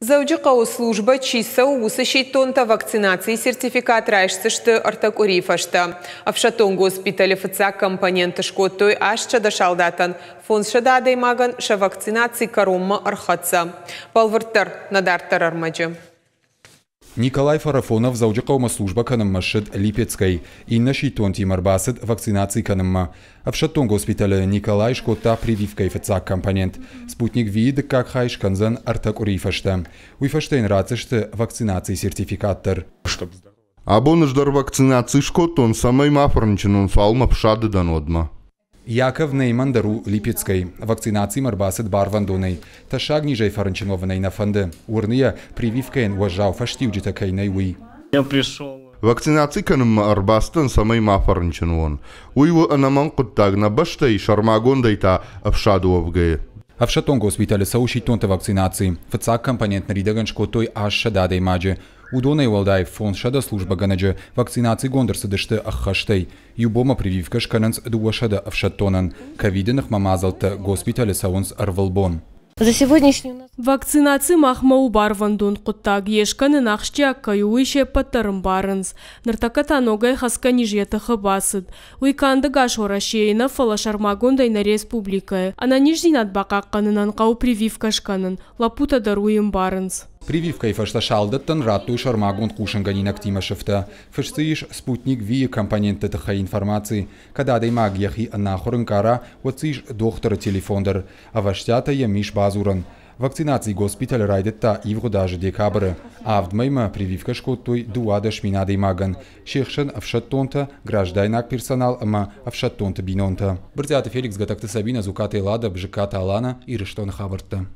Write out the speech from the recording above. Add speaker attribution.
Speaker 1: Дзӕуджыхъӕуы службӕ чи цӕуы, уыцы сидтонтӕ вакцинацийы сертификат райсдзысты 3 къуырийы фӕстӕ. Ӕфсӕддон госпиталы фыццаг компонент скодтой 800 салдатӕн, 500 адӕймагӕн сӕ вакцинаци кӕронмӕ ӕрхӕццӕ. Бӕлвырддӕр нӕ дарддӕр ӕрмӕджы.
Speaker 2: Николай Фарафонов Дзӕуджыхъӕумӕ службӕ кӕнынмӕ ссыд Липецкӕй. Иннӕ сидтонтимӕ ӕрбацыд вакцинаци кӕнынмӕ. Ӕфсӕддон госпиталы Николай скодта прививкӕйы фыццаг компонент. Спутник V-йы дыккаг хай скӕндзӕн 3 къуырийы фӕстӕ. Уый фӕстӕ йын ратдзысты вакцинацийы сертификат дӕр.
Speaker 3: Абон ӕз дӕр вакцинаци скодтон, цӕмӕй ма фӕрынчын уон, цалынмӕ фсады дӕн, уӕдмӕ.
Speaker 2: Яков Нейман дӕр у Липецкӕй. Вакцинацимӕ ӕрбацыд барвӕндонӕй. Тӕссаг низӕй фӕрынчын уӕвын ӕй нӕ фӕнды. Уырны йӕ, прививкӕйӕн уӕззау фӕстиуджытӕ кӕй нӕй, уый.
Speaker 3: Вакцинаци кӕнынмӕ ӕрбацыдтӕн, цӕмӕй ма фӕрынчын уон. Уый у ӕнӕмӕнг хъуыддаг нӕ бӕстӕйы, сӕрмагондӕй та ӕфсады уӕвгӕйӕ.
Speaker 2: Ӕфсӕддон госпиталы цӕуы сидтонты вакцинаци. Фыццаг компонент ныридӕгӕн скодтой 800 адӕймаджы. Уыдонӕй уӕлдай 500 службӕгӕнӕджы вакцинацигонд ӕрцыдысты ӕххӕстӕй. Иу бонмӕ прививкӕ скӕнынц 200 ӕфсӕддонӕн. Ковиды ныхмӕ мадзӕлттӕ госпиталы цӕуынц ӕрвылбон.
Speaker 4: Вакцинаци махмӕ у барвӕндон хъуыддаг, йе скӕнын ахсджиаг кӕй у, уый се ппӕт дӕр ӕмбарынц. Ныртӕккӕ та ногӕй хӕцгӕ низ йӕ тыхы бацыд. Уый канд ӕгас Уӕрӕсейы нӕ, фӕлӕ сӕрмагондӕй нӕ республикӕйы. Ӕнӕниздзинад бахъахъхъӕнынӕн хъӕуы прививкӕ скӕнын, лӕппутӕ дӕр уый ӕмбарынц.
Speaker 2: Прививкӕйы фӕстӕ салдӕттӕн радтой сӕрмагонд хъусынгӕнинӕгтимӕ сыфтӕ. Фыст дзы ис Спутник V-йы компонентты тыххӕй информаци. Кӕд адӕймаг йӕхи ӕнахуыр ӕнкъара, уӕд дзы ис дохтыры телефон дӕр. Ӕвӕстиатӕй йӕм ис бадзурӕн. Вакцинаци госпиталы райдыдта ивгъуыд азы декабры. 7 мӕймӕ прививкӕ скодтой 12 000 адӕймагӕн. Се хсӕн ӕфсӕддонтӕ, граждайнаг персонал ӕмӕ ӕфсӕддонты бинонтӕ. Брытъиаты Феликс, Гатӕгты Сабина, Зукаты Эллада, Бжыккаты Алана, Ирыстоны хабӕрттӕ.